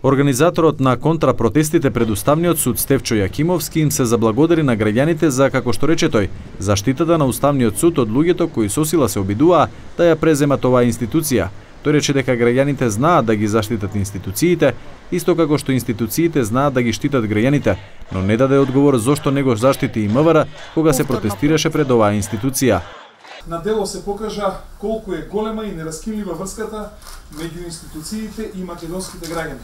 Организаторот на контрапротестите пред Уставниот суд Стефчо Јакимовски им се заблагодари на граѓаните за, како што рече тој, заштитата на Уставниот суд од луѓето кои со сила се обидуваа да ја преземат оваа институција. Тој рече дека граѓаните знаат да ги заштитат институциите, исто како што институциите знаат да ги штитат граѓаните, но не даде одговор зошто не го заштити и МВР кога се протестираше пред оваа институција. На дело се покажа колку е голема и нераскинлива врската меѓу институциите и македонските граѓани.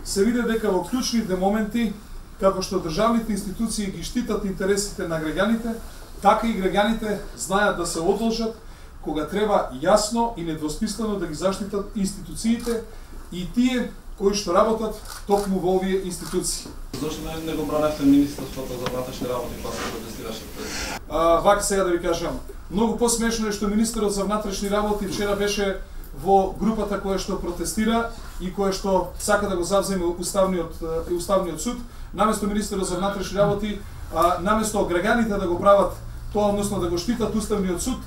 Се виде дека во клучните моменти, како што државните институции ги штитат интересите на граѓаните, така и граѓаните знаат да се одолжат кога треба јасно и недвосмислено да ги заштитат институциите и тие кои што работат токму во овие институции. Зошто не го браневте Министерството за внатрешни работи кога се протестираше пред? Вака сега да ви кажам, многу посмешно е што министерот за внатрешни работи вчера беше во групата која што протестира и која што сака да го завземе Уставниот суд, наместо министерот за внатрешни работи, наместо граѓаните да го прават тоа, односно да го штитат Уставниот суд,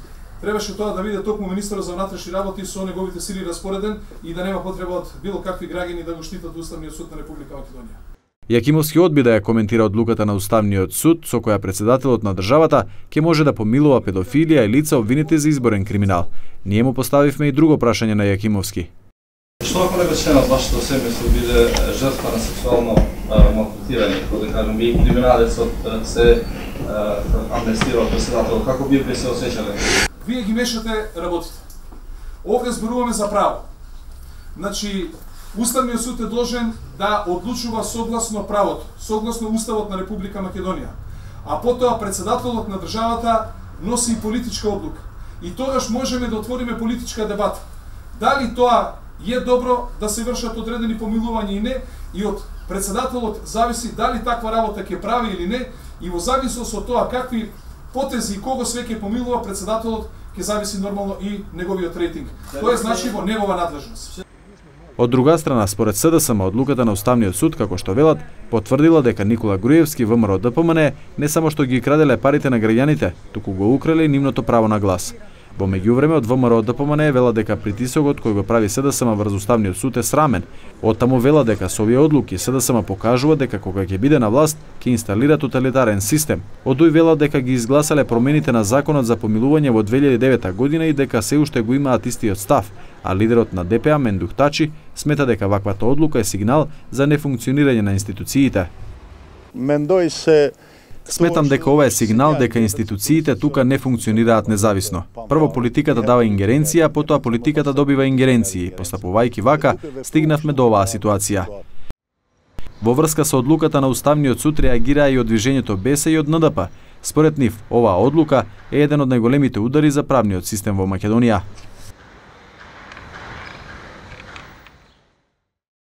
требаше тоа да биде токму министерот за внатрешни работи со неговите сили распореден и да нема потреба од било какви граѓани да го штитат Уставниот суд на Република Македонија. Јакимовски одби да ја коментира одлуката на Уставниот суд со која председателот на државата ќе може да помилува педофилија и лица обвинети за изборен криминал. Ние му поставивме и друго прашање на Јакимовски. Што ако некој член од вашето семејство биде жртва на сексуално малтретирање, како да кажем, и криминалецот се амнестира од председателот, како би се осеќале? Вие ги мешате работите. Овде зборуваме за право. Значи, Уставниот суд е должен да одлучува согласно правото, согласно Уставот на Република Македонија. А потоа председателот на државата носи и политичка одлука. И тогаш можеме да отвориме политичка дебата. Дали тоа е добро да се вршат одредени помилувања и не, и од председателот зависи дали таква работа ќе прави или не, и во зависност од тоа какви потези и кого све ќе помилува председателот, ќе зависи нормално и неговиот рейтинг. Тоа е значи во негова надлежност. Од друга страна, според СДСМ, одлуката на Уставниот суд, како што велат, потврдила дека Никола Груевски, ВМРО ДПМН, не само што ги краделе парите на граѓаните, туку го украле и нивното право на глас. Во меѓувреме од ВМРО ДПМН вела дека притисокот кој го прави СДСМ врз Уставниот суд е срамен. Оттаму вела дека со овие одлуки СДСМ покажува дека кога ќе биде на власт ќе инсталира тоталитарен систем. Одој вела дека ги изгласале промените на законот за помилување во 2009 година и дека се уште го имаат истиот став, а лидерот на ДПА Мендух Тачи смета дека ваквата одлука е сигнал за нефункционирање на институциите. Сметам дека ова е сигнал дека институциите тука не функционираат независно. Прво политиката дава ингеренција, потоа политиката добива ингеренции. Постапувајќи вака, стигнавме до оваа ситуација. Во врска со одлуката на Уставниот суд реагираа и од движењето БЕС и од НДП. Според нив, оваа одлука е еден од најголемите удари за правниот систем во Македонија.